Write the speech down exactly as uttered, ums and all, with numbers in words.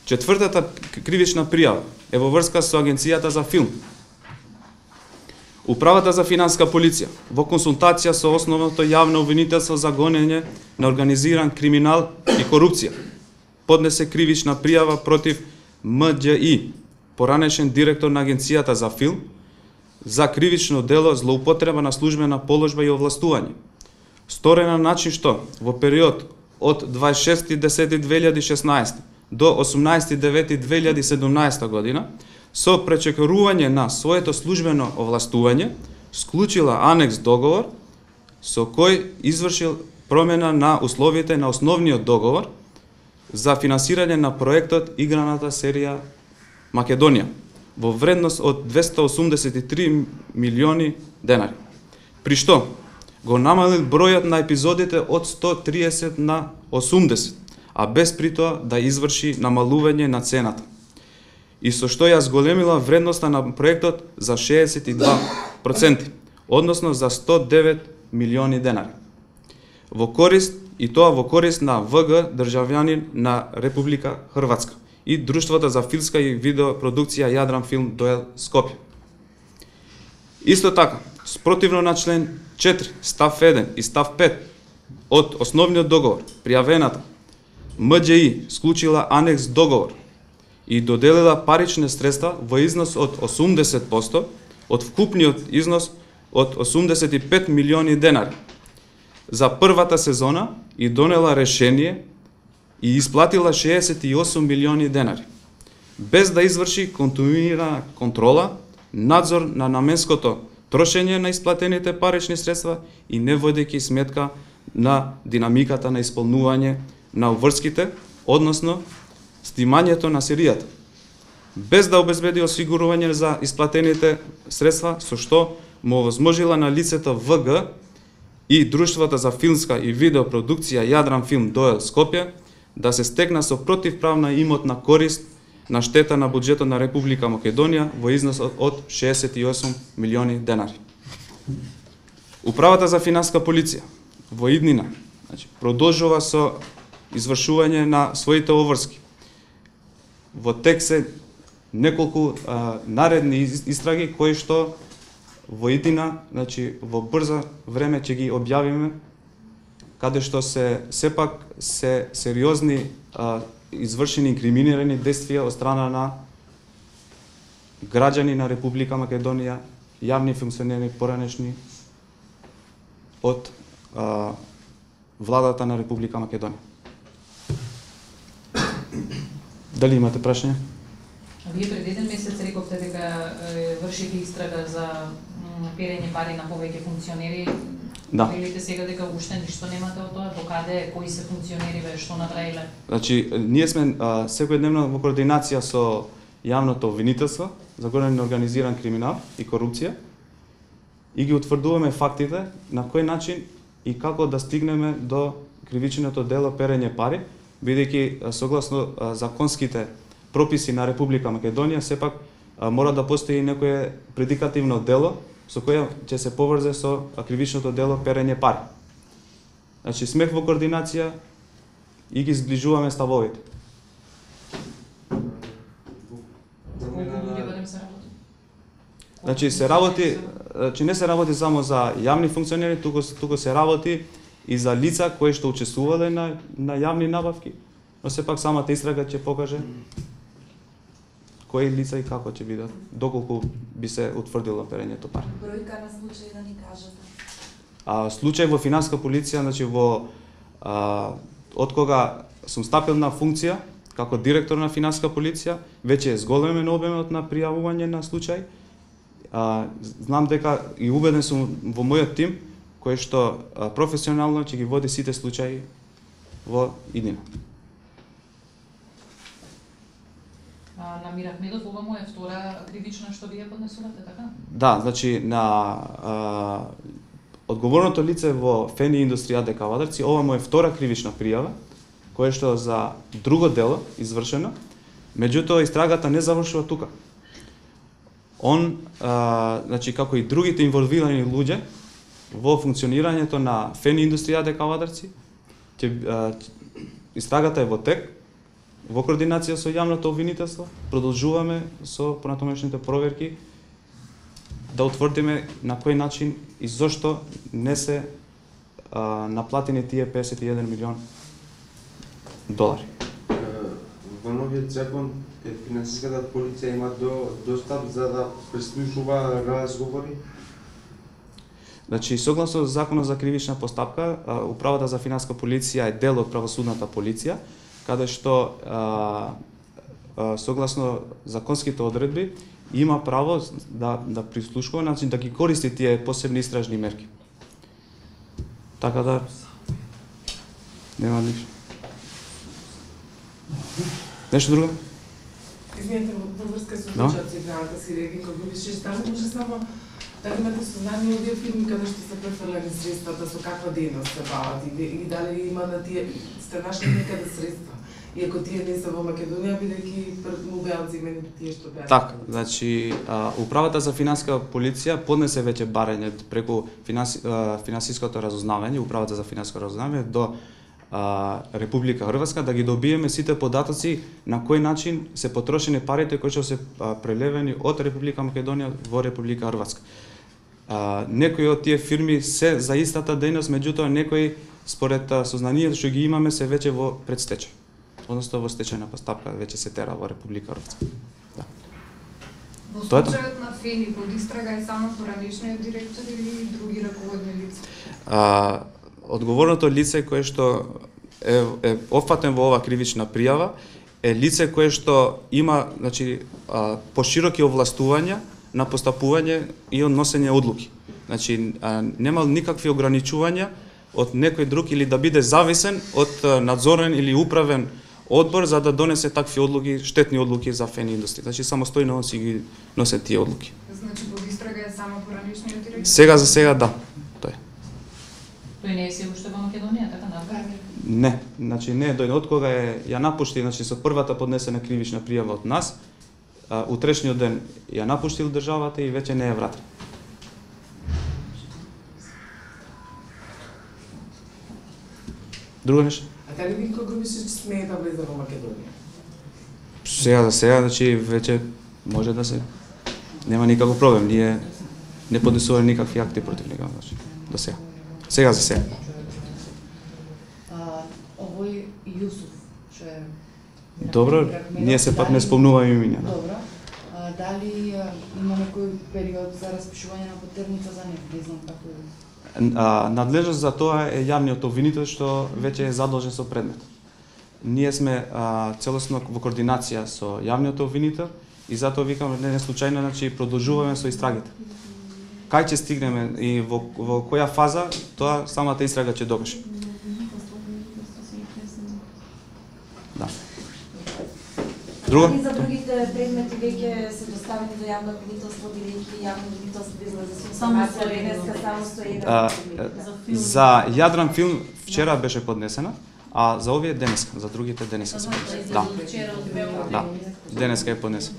Четвртата кривична пријава е во врска со Агенцијата за филм. Управата за финансиска полиција, во консултација со основното јавно обвинителство за гонење на организиран криминал и корупција, поднесе кривична пријава против М Đ И, поранешен директор на Агенцијата за филм, за кривично дело злоупотреба на службена положба и овластување, сторена на начин што во период од дваесет и шести десети две илјади и шеснаесет до осумнаесети девети две илјади и седумнаесета година, со пречекорување на своето службено овластување, склучила анекс договор со кој извршил промена на условите на основниот договор за финансирање на проектот играната серија Македонија во вредност од двесте осумдесет и три милиони денари. При што го намалил бројот на епизодите од сто триесет на осумдесет, а без при тоа да изврши намалување на цената. И со што ја зголемила вредноста на проектот за шеесет и два проценти, односно за сто девет милиони денари. Во корист, и тоа во корист на В Г државјанин на Република Хрватска и Друштвото за филмска и видеопродукција Јадран Филм Доел Скопје. Исто така, спротивно на член четири, став еден и став пет од основниот договор, пријавената М Đ И склучила анекс договор и доделила парични средства во износ од осумдесет проценти од вкупниот износ од осумдесет и пет милиони денари за првата сезона и донела решение и исплатила шеесет и осум милиони денари, без да изврши континуирана контрола, надзор на наменското трошење на исплатените парични средства и не водејќи сметка на динамиката на исполнување на уврските, односно снимањето на серијата, без да обезбеди осигурување за исплатените средства, со што му овозможила на лицето В Г и Друштвото за филмска и видеопродукција Јадран Филм Доел Скопје да се стекна со противправна имотна корист на штета на буџетот на Република Македонија во износ од шеесет и осум милиони денари. Управата за финансиска полиција во иднина, значи, продолжува со извршување на своите обврски. Во тек се неколку а, наредни истраги кои што во иднина, значи во брзо време ќе ги објавиме, каде што се сепак се сериозни а, извршени инкриминирани действија од страна на граѓани на Република Македонија, јавни функционери поранешни од а, владата на Република Македонија. Дали имате прашање? Вие пред еден месец рековте дека вршите истрага за перење пари на повеќе функционери. Да. Велите сега дека уште ништо немате од тоа, докаде, кои се функционери, бе, што направиле? Значи, ние сме а, секојдневно во координација со јавното обвинителство за гонење на организиран криминал и корупција и ги утврдуваме фактите на кој начин и како да стигнеме до кривичното дело перење пари, бидејќи согласно а, законските прописи на Република Македонија, сепак а, мора да постои некое предикативно дело со која ќе се поврзе со кривичното дело перење пари. Значи, сме во координација и ги сближуваме ставовите. Значи, се работи, значи не се работи само за јавни функционери, туку, туку се работи и за лица кои што учествувале на, на јавни набавки, но сепак самата истрага ќе покаже кои лица и како ќе бидат, доколку би се утврдило перењето пари. Бројка на случаи да ни кажете? А, случај во финансиска полиција, значи во а, од кога сум стапил на функција како директор на финансиска полиција, веќе е зголемен обемот на пријавување на случај. А, знам дека и убеден сум во мојот тим кој што а, професионално ќе ги води сите случаи во иднина. На Мир Ахмедов, ова му е втора кривична што вие поднесувате, така? Да, значи на а, одговорното лице во ФЕНИ Индустрија АД Кавадарци, ова му е втора кривична пријава, која што за друго дело извршено, меѓутоа истрагата не завршува тука. Он, а, значи како и другите инволвирани луѓе во функционирањето на ФЕНИ Индустрија АД Кавадарци, ќе истрагата е во тек во координација со јавното обвинителство, продолжуваме со понатамошните проверки да утврдиме на кој начин и зошто не се а, наплатени тие песет и еден милион долари. Во новиот закон финансиската полиција има до, достап за да преслушува разговори. Значи, согласно Законот за кривична постапка, Управата за финанска полиција е дел од правосудната полиција, каде што а, а, согласно законските одредби има право да да прислушкува, значи да ги користи тие посебни истражни мерки. Така да нема ништо. Нешто друго? Извинете, во врска со No? случајот со игралата си реки, кога више стана, може само да имате сознание овие фирми каде што се префрлени средствата, со каква дејност се бават и, и дали има на тие, сте нашли некаде средства. И ако тие не се во Македонија, бидејќи пред му беа земени тие што беа. Така, значи а, Управата за финанска полиција поднесе веќе барање преку финанси, а, финансиското разузнавање, Управата за финансиско разузнавање до а, Република Хрватска да ги добиеме сите податоци на кој начин се потрошени парите кои што се а, прелевени од Република Македонија во Република Хрватска. А, некои од тие фирми се за истата дејност, меѓутоа некои според а, сознанието што ги имаме се веќе во предстечај, односно во стечајна постапка веќе се тера во Република Хрватска. Да. Во Тоа е тоа. случајот на Фени под истрага е само поранешниот директор или други раководни лица? А, одговорното лице кое што е, е опфатен во ова кривична пријава е лице кое што има, значи, а, пошироки овластувања на постапување и односење одлуки. Значи, а, нема никакви ограничувања од некој друг или да биде зависен од а, надзорен или управен одбор за да донесе такви одлуки, штетни одлуки за Фени индустрија. Значи, самостојно он си ги носи тие одлуки. Значи под истрага е само поранешниот директор? Сега за сега да. Тој. Тој не е се уште во Македонија, така надвор? Не, значи не е дојде од кога е ја напушти, значи со првата поднесена кривична пријава од нас, а, утрешниот ден ја напуштил државата и веќе не е вратен. Друго нешто? А дали Винко Грубишич смее да влезе во Македонија? Сега за сега, значи веќе може да се нема никаков проблем, ние не поднесуваме никакви акти против него, значи до сега. Сега за сега. А, овој Јусуф, што е... Добро, ние се пак не спомнуваме имиња. Добро. А, дали а, има некој период за распишување на потерница за него? Не знам како е. А, надлежност за тоа е јавниот обвинител што веќе е задолжен со предмет. Ние сме а, целосно во координација со јавниот обвинител и затоа викам не, не случајно, значи продолжуваме со истрагите. Кај ќе стигнеме и во, во која фаза, тоа самата истрага ќе докаже. Да. Друго? Дали за другите предмети веќе се доставени до јавно обвинителство, бидејќи јавно обвинителство излезе со информација денеска само стои еден А, предмет? за Јадран филм вчера беше поднесена, а за овие денеска, за другите денеска се поднесена. Да, да, денеска е поднесена.